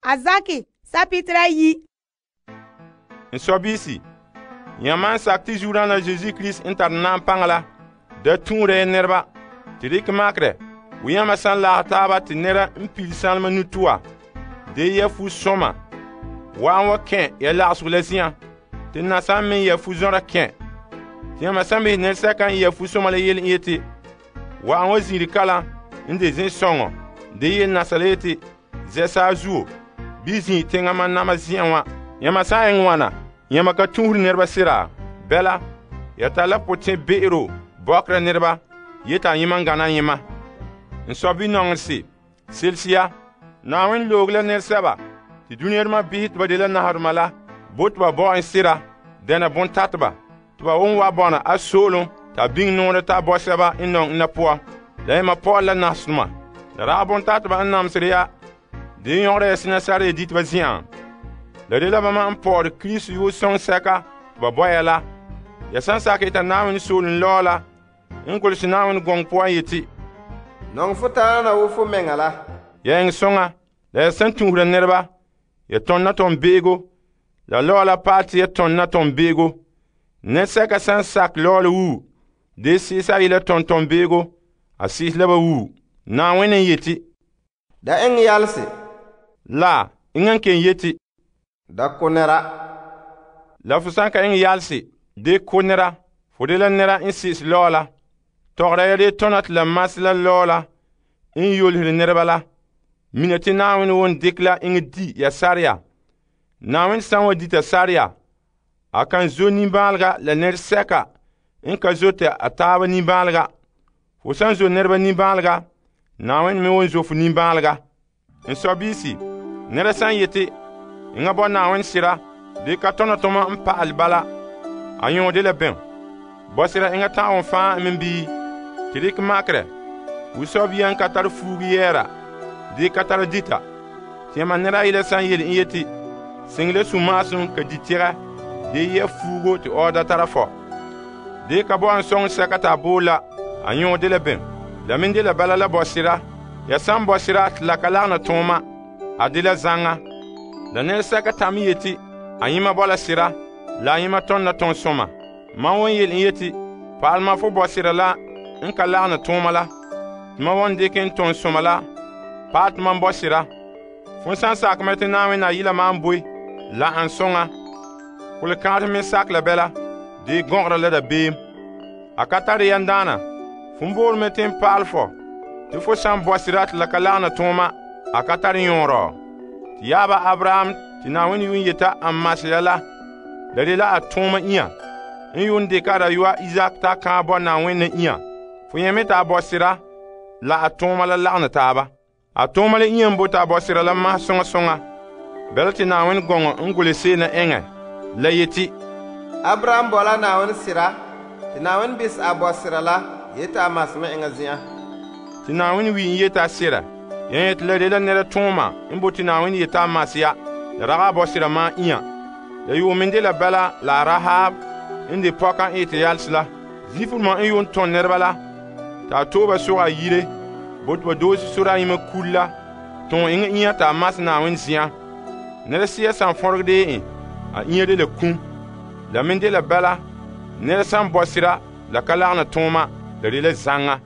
a zakɛ sapitera yi. N sɔbiisi, yãmba n sakɛ te Zuodaana Yesu Kirista n tare naam paŋa la da tũura ya nɛreba te dikɛ makerɛ wo yãmba san lagɛ taaba te nɛra n pile sanlema nutoa de ya fu-sɔma wa'an wa kɛn ya lagsego la zen'an te nasa me ya fu-zɔra kɛn. Te yãmba san behɛ nɛresɛka n ya fu-sɔma la yele n yeti wa'an wa zin'ire kalam n de zin-sɔŋɔ de yele nasa la yeti zɛ saazuo bii zin' teŋa mam nama zen'an wa. Yãmba san eŋɛ wana, yãmba ka tũusere nɛreba sira. Bɛla, ya tare la potɛn-be'ero bɔkera nɛreba yeti ayema n gana ayema. N sɔbi-nɔŋerese, selesiya, Na'ayenɛ loog la nɛresɛba te duŋadoma behɛ te ba dela nahadoma la bo te ba bo en sera dɛna bontateba te ba won wa bɔna a so'olom ta biŋe nɔɔrɛ ta bɔ sɛba n nɔŋɛ ena poan. La yema Paul la nasadoma. La ragɛ bontateba n namesere ya de yõgera ya sena sara ya diteba zen'an. La dela bama n pɔɔre Kirista yoo sɔŋ sɛka te ba bɔ ya la. Ya san sakɛ eta Na'ayenɛ soolem lɔɔ la n golehɛ Na'ayenɛ gɔŋɔ poan yeti, nɔŋɛ fo taana wo fo mɛŋa la. Ya eŋɛ sõŋa, la ya san tũusera nɛreba, ya tɔnna tɔn-be'ego, la lɔɔ la paɛ te ya tɔnna tɔn-be'ego. Nɛresɛka san sakɛ lɔɔ la wuu, de sɩɩsa a yela tɔn-tɔn-be'ego, a sɩɩsɛ la ba wuu. Na'ayenɛ n yeti, Da eŋɛ yalese. la eŋa n ken yeti, Da ko nɛra. la fo san ka eŋɛ yalese de ko nɛra, fo de la nɛra n sɩɩsɛ lɔɔ la. Tɔgera ya de tɔna te la masɛ la lɔɔ la n yolesere nɛreba la. Mina te Na'ayenɛ won dikɛ la eŋɛ di ya sareya. Na'ayenɛ san wa dita sareya, a kan zo nimbaalega la nɛresɛka n ka zo te a taaba nimbaalega. Fo san zo nɛreba nimbaalega, Na'ayenɛ me won zo fo nimbaalega. N sɔbiisi, nɛra san yeti, enŋa bɔ Na'ayenɛ sera de ka tɔna tɔma n pa'ale bala, a yõo de la bɛm. Bɔsera enŋa ta'awon fãa me bii, te dikɛ makerɛ, wo sɔbia n ka tare fuugu yɛɛra, de ka tare dita. Te yãmba nɛra ayila san yele n yeti, seŋe la sũ-maasem ka di tɛgɛ de yɛ fuugo te ɔɔda tara fɔ. De ka bo an sõŋ sɛka ta a boole la, a yõo de la bɛm. La me de la bala la bɔsera. Ya san bɔsera te la ka lagena tõoma, a de la zaŋa. La nɛresɛka tam yeti, a yẽma bɔ la sera, la a yẽma tɔnna tɔn-sõma. Mam won yele n yeti, pa'alema fo bɔsera la n ka lagena tõoma la, tɩ mam won dikɛ n tɔn-sõma la paɛ tɩ mam bɔsera. Fo san sakɛ mɛ tɩ Na'ayenɛ a yila mam boe la an sõŋa. Kolekãadem me sak la bɛla de gɔgera la dabeem. A ka tare yan daana, fo boore me tɩ n paal fɔ tɩ fo san bɔsera te la ka lagena tõoma, a ka tare yõorɔ. Tɩ yaaba Abraham tɩ Na'ayenɛ yuun yeta a masɛ ya la de la a tõoma inya n yuun dɩka a dayɔa Izak t'a kãa bɔ Na'ayenɛ inya. Fo yẽ me t'a bɔsera la a tõoma la lagena taaba. A tõoma la inya n bo t'a bɔsera la masɛ sõŋa sõŋa. Bɛla tɩ Na'ayenɛ gɔŋɔ n gole seena eŋɛ la yeti, Abraham bɔ la Na'ayenɛ sera, te Na'ayenɛ bisɛ a bɔsera la yeti a masɛ me eŋa zen'an. Tɩ Na'ayenɛ wi n yeta a sera. Yẽ yeti la de la nɛra tõoma n bo tɩ Na'ayenɛ yeta a masɛ ya, la ragã a bɔsera maa inya. La yuum me de la bala la a Rahab n de pɔka n ete yalse la. Zifuruma n yuun tõn nɛreba la, t'a tooba soga a yire, bo tɩ ba doose sora a yẽma kul la, tõog eŋa inya t'a masɛ Na'ayenɛ zen'an. Nɛra siya san fõreg de en, a inya de la kum. La me de la bala, nɛra san bɔsera la ka lagena tõoma, la de la zaŋa.